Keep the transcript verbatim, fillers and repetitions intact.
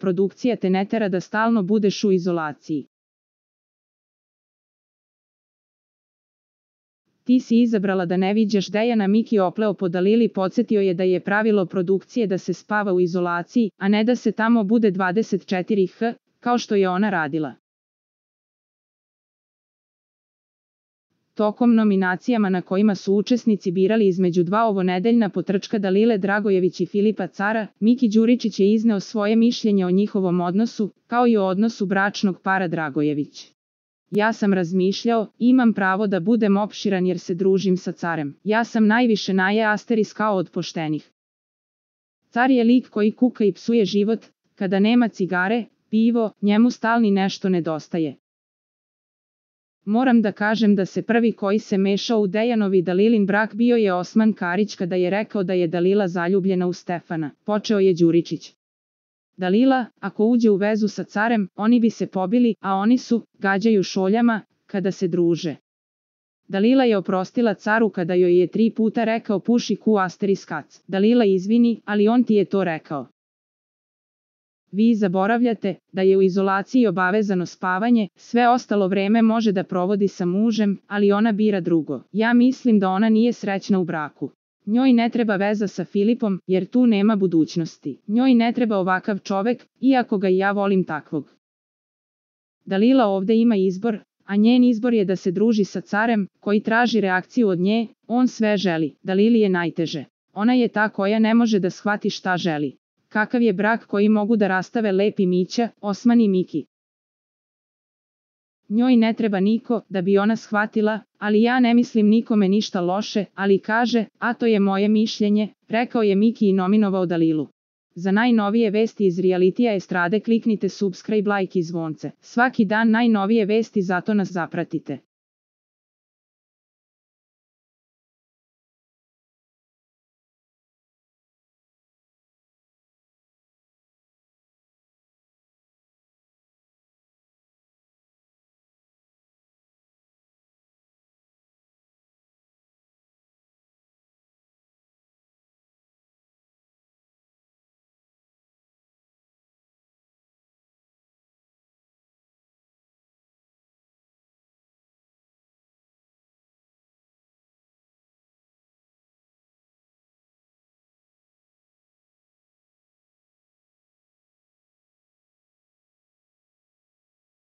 produkcija te ne tera da stalno budeš u izolaciji. Ti si izabrala da ne viđaš Dejana. Miki opleo po Dalili, podsjetio je da je pravilo produkcije da se spava u izolaciji, a ne da se tamo bude dvadeset četiri sata, kao što je ona radila. Tokom nominacijama na kojima su učesnici birali između dva ovonedeljna potrčka Dalile Dragojević i Filipa Cara, Miki Đuričić je izneo svoje mišljenje o njihovom odnosu, kao i o odnosu bračnog para Dragojević. Ja sam razmišljao, imam pravo da budem opširan jer se družim sa Carem. Ja sam najviše naje asteris kao od poštenih. Car je lik koji kuka i psuje život, kada nema cigare, pivo, njemu stalni nešto nedostaje. Moram da kažem da se prvi koji se mešao u Dejanov i Dalilin brak bio je Osman Karić kada je rekao da je Dalila zaljubljena u Stefana, počeo je Đuričić. Dalila, ako uđe u vezu sa Carem, oni bi se pobili, a oni su, gađaju šoljama, kada se druže. Dalila je oprostila Caru kada joj je tri puta rekao puši ku asteris kac. Dalila izvini, ali on ti je to rekao. Vi zaboravljate da je u izolaciji obavezano spavanje, sve ostalo vreme može da provodi sa mužem, ali ona bira drugo. Ja mislim da ona nije srećna u braku. Njoj ne treba veza sa Filipom, jer tu nema budućnosti. Njoj ne treba ovakav čovek, iako ga i ja volim takvog. Dalila ovde ima izbor, a njen izbor je da se druži sa Carem, koji traži reakciju od nje, on sve želi. Dalili je najteže. Ona je ta koja ne može da shvati šta želi. Kakav je brak koji mogu da rastave Lepi Mića, Osman i Miki. Njoj ne treba niko da bi ona shvatila, ali ja ne mislim nikome ništa loše, ali kaže, a to je moje mišljenje, rekao je Miki i nominovao Dalilu. Za najnovije vesti iz realitija estrade kliknite subscribe, like i zvonce. Svaki dan najnovije vesti, zato nas zapratite.